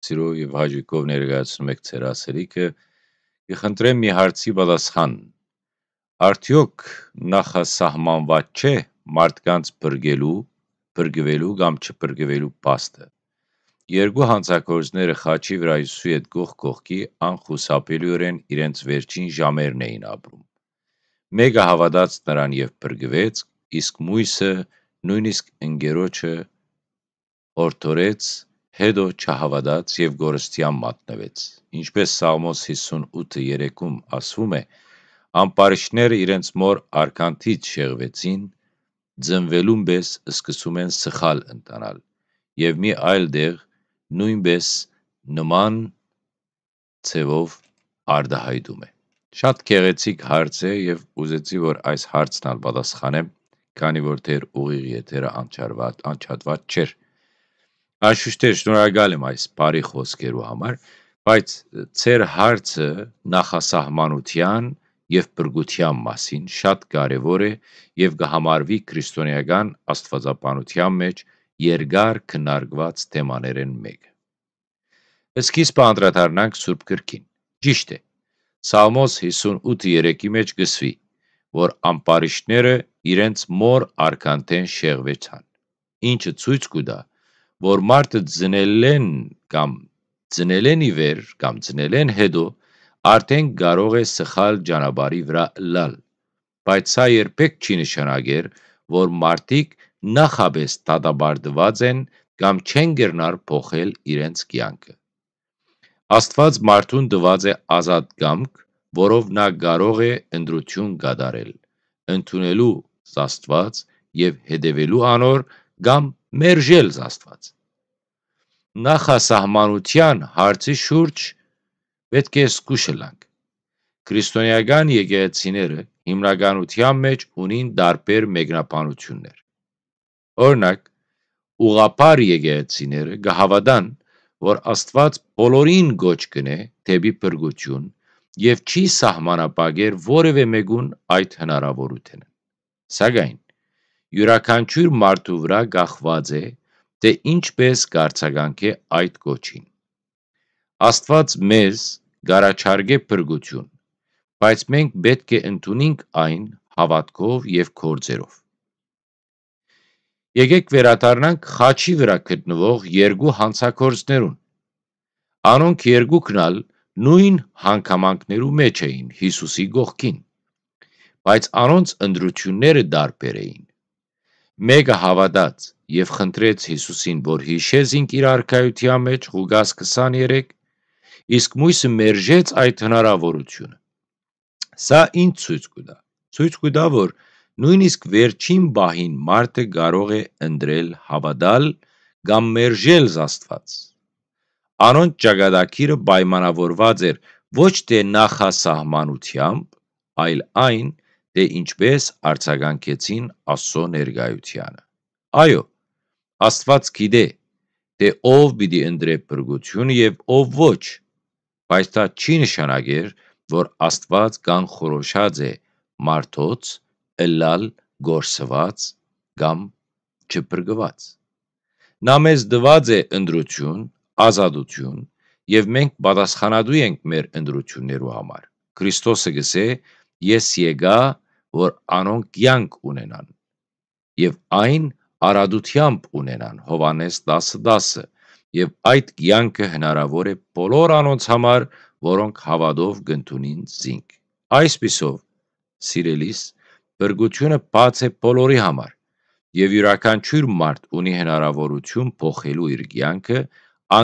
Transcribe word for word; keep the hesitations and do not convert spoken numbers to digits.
Սիրով եւ հաճույքով ներկայացնում եք ձեր ասելիքը։ Կը խնդրեմ մի հարցի պատասխան։ Արդեօք նախասահմանուած չէ մարդկանց փրկելու, փրկուելու կամ չփրկուելու փաստը։ Երկու հանցագործները խաչի վրայ Յիսուսի հետ կողք կողքի անխուսափելիօրէն իրենց վերջին ժամերն էին ապրում։ Մէկը հաւատաց նրան եւ փրկուեց, իսկ միւսը, նոյնիսկ ընկերոջը, յորդորեց, հետո չհաւատաց եւ կորստեան մատնուեց։ Ինչպէս Սաղմոս հիսուն ութը երեքում ասվում է, ամպարիշները իրենց մօր արքանթից շեղուեցին, ձնուելուն պէս սկսում են սխալ ընթանալ եւ մի այլ տեղ նոյնպէս նման ձեւով արտայայտում է։ Շատ գեղեցիկ հարց է եւ ուզեցի, որ այս հարցն ալ պատասխանեմ, քանի որ դեռ ուղիղ եթերը անջարդուած, անջատուած չէր։ Անշուշտ է, շնորհակալ եմ այս բարի խոսքերու համար, բայց ձեր հարցը նախասահմանութեան եւ փրկութեան մասին շատ կարեւոր է եւ կը համարուի քրիստոնեական աստուածաբանութեան մէջ երկար քննարկուած թեմաներէն մէկը։ Սկիզբը անդրադառնանք Սուրբ Գրքին։ Ճիշդ է, Սաղմոս հիսուն ութը երեքի մէջ կ'ըսուի, որ ամպարիշները իրենց մօր արքանթէն շեղուեցան, ինչը ցոյց կու տայ, որ մարդը ծնելէն կամ ծնելէն ի վեր կամ ծնելէն հետո արդէն կարող է սխալ ճանապարհի վրայ ըլլալ, բայց սա երբեք չի նշանակեր, որ մարդիկ նախապէս դատապարտուած են կամ չեն կրնար փոխել իրենց կեանքը։ Աստուած մարդուն տուած է ազատ կամք, որով նա կարող է ընտրութիւն կատարել, ընդունելու Աստուած եւ հետեւելու անոր կամ մերժել Աստուած։ Նախասահմանութեան հարցի շուրջ պէտք է զգուշ ըլլանք։ Քրիստոնեական եկեղեցիները հիմնականութեան մէջ ունին տարբեր մեկնաբանութիւններ։ Օրինակ, ուղղափառ եկեղեցիները կը հաւատան, որ Աստուած բոլորին կոչ կ'ընէ դէպի փրկութիւն եւ չի սահմանափակեր որեւէ մէկուն այդ հնարաւորութենը։ Սակայն, իւրաքանչիւր մարդու վրայ կախուած է, թէ ինչպէս կ'արձագանքէ այդ կոչին։ Աստուած մեզ կ'առաջարկէ փրկութիւն, բայց մենք պէտք է ընդունինք այն հաւատքով եւ գործերով։ Եկէք վերադառնանք խաչի վրայ գտնուող երկու հանցագործներուն։ Անոնք երկուքն ալ նոյն հանգամանքներու մէջ էին Յիսուսի կողքին, բայց անոնց ընտրութիւնները տարբեր էին։ Մէկը հաւատաց եւ խնդրեց Յիսուսին, որ յիշէ զինք իր արքայութեան մէջ, Ղուկաս քսաներեք, իսկ միւսը մերժեց այդ հնարաւորութիւնը։ Սա ինչ ցոյց կու տայ։ Ցոյց կու տայ, որ նոյնիսկ վերջին պահին մարդը կարող է ընտրել հաւատալ կամ մերժել Աստուած։ Անոնց ճակատագիրը պայմանաւորուած էր ոչ թէ նախասահմանութեամբ, այլ այն, թէ ինչպէս արձագանքեցին Աստուծոյ ներկայութեանը։ Այո, Աստուած գիտէ, թէ ով պիտի ընտրէ փրկութիւնը եւ ով ոչ, բայց դա չի նշանակեր, որ Աստուած կանխորոշած է մարդոց ըլլալ կորսուած կամ չփրկուած։ Նա մեզ տուած է ընտրութիւն, ազատութիւն, եւ մենք պատասխանատու ենք մեր ընտրութիւններու համար։ Քրիստոսը կ'ըսէ. «Ես եկայ, որ անոնք կեանք ունենան, եւ այն արատութեամբ ունենան», Յովհաննէս տասը տասը, եւ այդ կեանքը հնարաւոր է բոլոր անոնց համար, որոնք հաւատով կ'ընդունին զինք։ Այսպիսով, սիրելիս, փրկութիւնը բաց է բոլորի համար, եւ իւրաքանչիւր մարդ ունի հնարաւորութիւն փոխելու իր կեանքը